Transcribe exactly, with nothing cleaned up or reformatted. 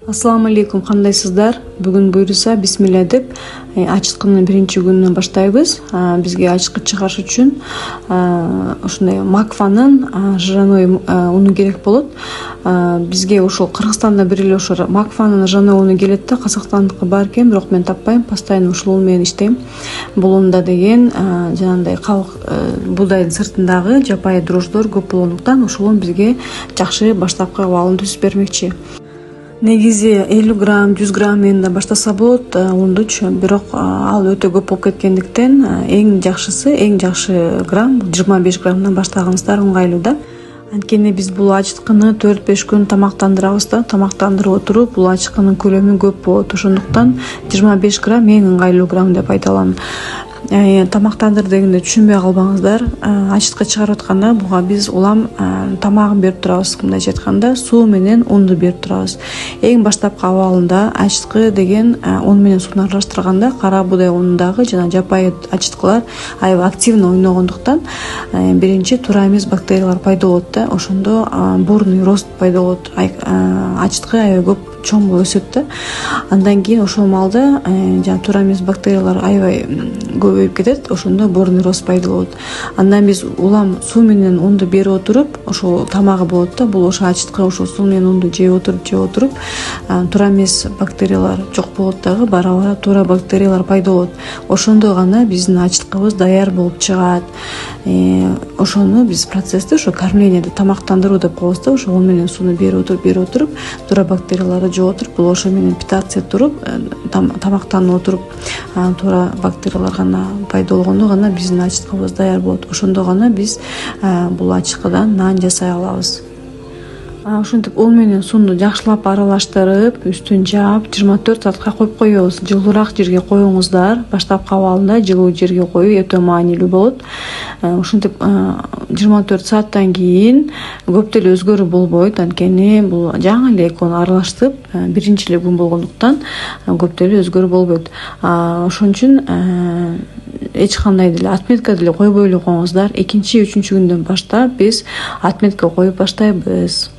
Ассаламу алейкум, кандайсыздар? Бүгүн буйруса бисмилля деп ачыткынын биринчи күнүнөн баштайбыз. Бизге ачыткы чыгарыш үчүн ушундай макфанын жирной уну керек болот. Бизге ошол Кыргызстанда бир эле ошо макфанын жирной уну келет да, Казакстандыкы бар экен, бирок мен таппайм. Постоянно ушул уну менен иштейм. Бул унда деген жанагындай кабык буудайдын сыртындагы жапайы дрожждор көп болгондуктан ошол ун бизге жакшы баштапкы абалын түзүп бермекчи. Негизи элүү грамм, жүз грамм менен баштаса болот ундучу, бирок ал өтө көп болуп кеткендиктен эң жакшысы, эң жакшы грамм жыйырма беш граммдан баштаганыңыздар ыңгайлуу да. Анткени биз бул ачыткыны төрт беш күн тамактандырабыз да, тамактандырып отуруп бул ачыткынын көлөмү көп болот. Ошондуктан жыйырма беш грамм эң ыңгайлуу грамм деп айта алам. Тамактандыр дегенде түшүнбөй калбаңыздар. Ачыткы чыгарып атканда буга биз улам тамагын берип турабыз. Мындайча айтканда, суу менен унду берип турабыз. Эң баштапкы абалында ачыткы деген ун менен сууну аралаштырганда кара буудай унундагы жана жапайы ачыткылар аябай активно ойногондуктан биринчи туура эмес бактериялар пайда болот да. Ошондо бурный рост пайда болот. Ачыткы аябай көп чоң өсөт да. Андан кийин ошол маалда жана туура эмес бактериялар аябай көбөйүп кетет. Ошондо бурный рост пайда болот. Андан биз улам суу менен унду берип отуруп, ошол тамагы болот да. Бул ошо ачыткы ошол суу менен унду жеп отуруп, жеп отуруп, туура эмес бактериялар жок болот дагы, бара-бара туура бактериялар пайда болот. Ошондо гана биздин ачыткыбыз даяр болуп чыгат. Ошону биз процессти ошо кормление, тамактандыруу деп коебуз да. Ошо ун менен сууну берип отуруп, берип отуруп, туура бактерияларды жеп отуруп, бул ошо менен питаться туруп, тамактанып отуруп, туура бактериялар гана пайда болгондо гана биздин ачыткыбыз даяр болот. Ошондо гана биз бул ачыткыдан нан жасай алабыз. Ушинтип ун менен сууну жакшылап аралаштырып, үстүн жаап, жыйырма төрт саатка коюп коебуз. Жылуураак жерге коюңуздар. Баштапкы абалында жылуу жерге коюу өтө маанилүү болот. Ушинтип жыйырма төрт сааттан кийин көп деле өзгөрүү болбойт. Анткени бул жаңы эле экөөнү аралаштырып, биринчи эле күн болгондуктан көп деле өзгөрүү болбойт. Ошон үчүн эч кандай деле отметка деле койбой эле коюңуздар. Экинчи, үчүнчү күндөн баштап биз отметка коюп баштайбыз.